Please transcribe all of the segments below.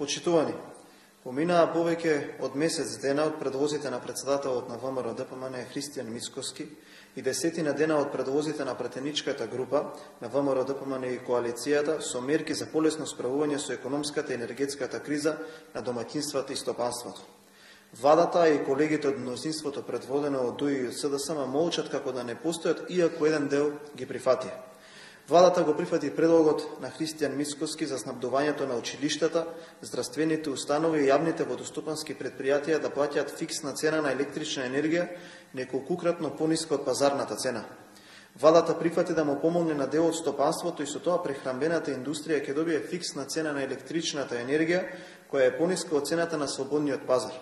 Почитувани, поминаа повеќе од месец дена од предвозите на председателот на ВМРО-ДПМН Христијан Мицкоски и 10 дена од предвозите на пратеничката група на ВМРО-ДПМН и коалицијата со мерки за полесно справување со економската и енергетската криза на домаќинствата и стопанството. Владата и колегите од мнозинството предводено од ДУИ и СДСМ молчат како да не постојат, иако еден дел ги прифатија. Владата го прифати предлогот на Христијан Мицкоски за снабдувањето на училиштата, здравствените установи и јавните водостопански предпријатија да плаќаат фиксна цена на електрична енергија неколкукратно пониска од пазарната цена. Владата прифати да му помогне на дел од стопанството и со тоа прехранбената индустрија ќе добие фиксна цена на електричната енергија која е пониска од цената на слободниот пазар.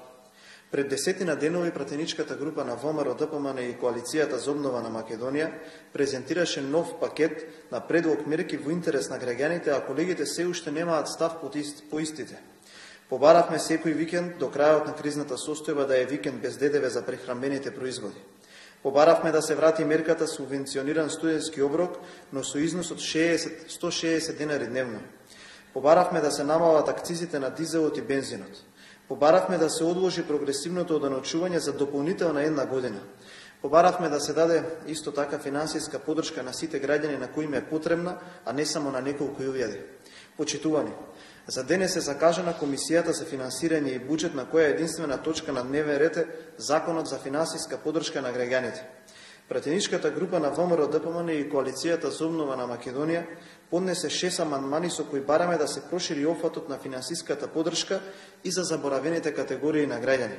Пред 10 денови пратеничката група на ВМРО-ДПМН и коалицијата за обнова на Македонија презентираше нов пакет на предлог мерки во интерес на граѓаните, а колегите се уште немаат став по истите. Побаравме секој викенд до крајот на кризната состојба да е викенд без ДДВ за прехранбените производи. Побаравме да се врати мерката субвенциониран студентски оброк, но со износ од 160 денари дневно. Побаравме да се намалат акцизите на дизелот и бензинот. Побаравме да се одложи прогресивното оданочување за дополнителна една година. Побаравме да се даде исто така финансиска поддршка на сите граѓани на кои им е потребна, а не само на неколку илјади. Почитувани, за денес е закажана Комисијата за финансирање и буџет, на која единствена точка на дневен ред е Законот за финансиска поддршка на граѓаните. Пратеничката група на ВМРО-ДПМН и коалицијата за обнова на Македонија поднесе 6 амандмани со кои бараме да се прошири опфатот на финансиската поддршка и за заборавените категории на граѓани.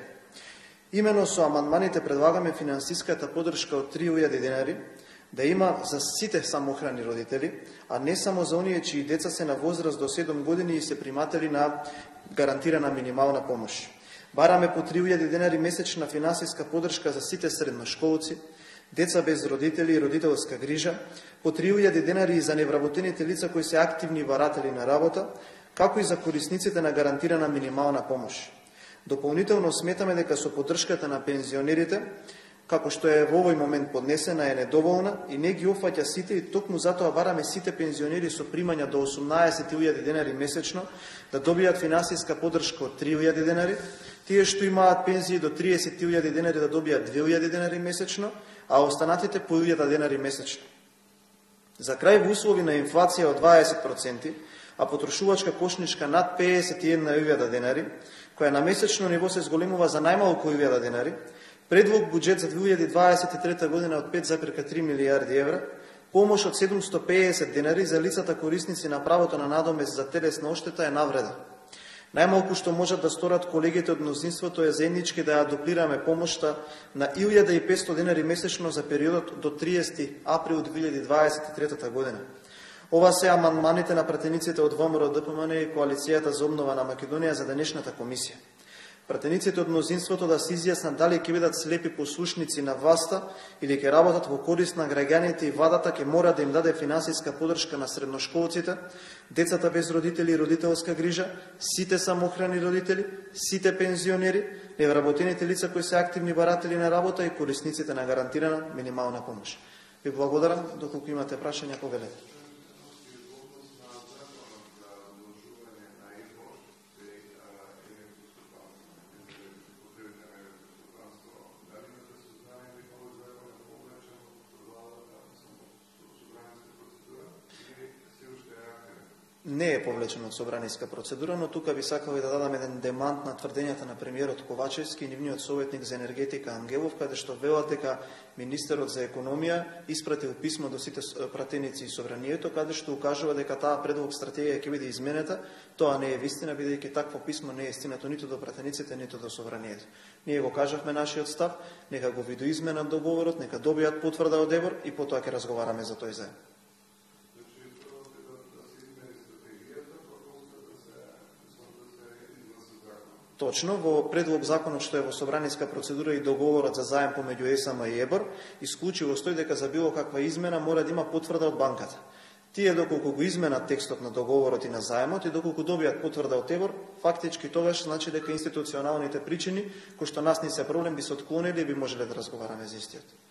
Имено со амандманите предлагаме финансиската поддршка од 3000 денари да има за сите самохрани родители, а не само за оние чии деца се на возраст до 7 години и се приматели на гарантирана минимална помош. Бараме по 3000 денари месечна финансиска поддршка за сите средношколци, деца без родители и родителска грижа, по 3000 денари и за невработените лица кои се активни баратели на работа, како и за корисниците на гарантирана минимална помош. Дополнително сметаме дека со поддршката на пензионерите, како што е во овој момент поднесена, е недоволна и не ги офаќа сите, и токму затоа бараме сите пензионери со примања до 18.000 денари месечно да добијат финансиска поддршка од 3.000 денари, тие што имаат пензии до 30.000 денари да добијат 2.000 денари месечно, а останатите по 1.000 денари месечно. За крај, во услови на инфлација од 20%, а потрошувачка кошничка над 51.000 денари, која на месечно ниво се зголемува за најмалку 1.000 денари, предлог буџет за 2023 година од 5,3 милијарди евра, помош од 750 денари за лицата корисници на правото на надомест за телесна оштета е навреда. Најмалку што можат да сторат колегите од мнозинството е заеднички да ја дуплираме помошта на 1500 денари месечно за периодот до 30 април 2023 година. Ова се амандманите на пратениците од ВМРО-ДПМН и коалицијата за обнова на Македонија за денешната комисија. Пратениците од мнозинството да се изјаснат дали ќе бидат слепи послушници на власта или ќе работат во корист на граѓаните, и владата ќе мора да им даде финансиска поддршка на средношколците, децата без родители и родителска грижа, сите самохрани родители, сите пензионери, невработените лица кои се активни баратели на работа и корисниците на гарантирана минимална помош. Ви благодарам, доколку имате прашања, повелете. Не е повлечено од собраниска процедура, но тука би сакал и да дадам еден демант на тврдењата на премиерот Ковачевски и нивниот советник за енергетика Ангелов, каде што велат дека министерот за економија испратил писмо до сите пратеници и собранието, каде што укажува дека таа предлог стратегија ќе биде изменета. Тоа не е вистина, бидејќи такво писмо не е стигнато ниту до пратениците, ниту до собранието. Ние го кажавме нашиот став, нека го видоизменат договорот, нека добијат потврда од ЕБОР и потоа ќе разговараме за тој заедно. Точно, во предлог законот што е во собраниска процедура и договорот за заем помеѓу ЕСМ и ЕБОР, исклучиво стои дека за било каква измена мора да има потврда од банката. Тие доколку го изменат текстот на договорот и на заемот и доколку добијат потврда од ЕБОР, фактички тогаш значи дека институционалните причини кои што нас не се проблем би се отклонили и би можеле да разговараме за истиот.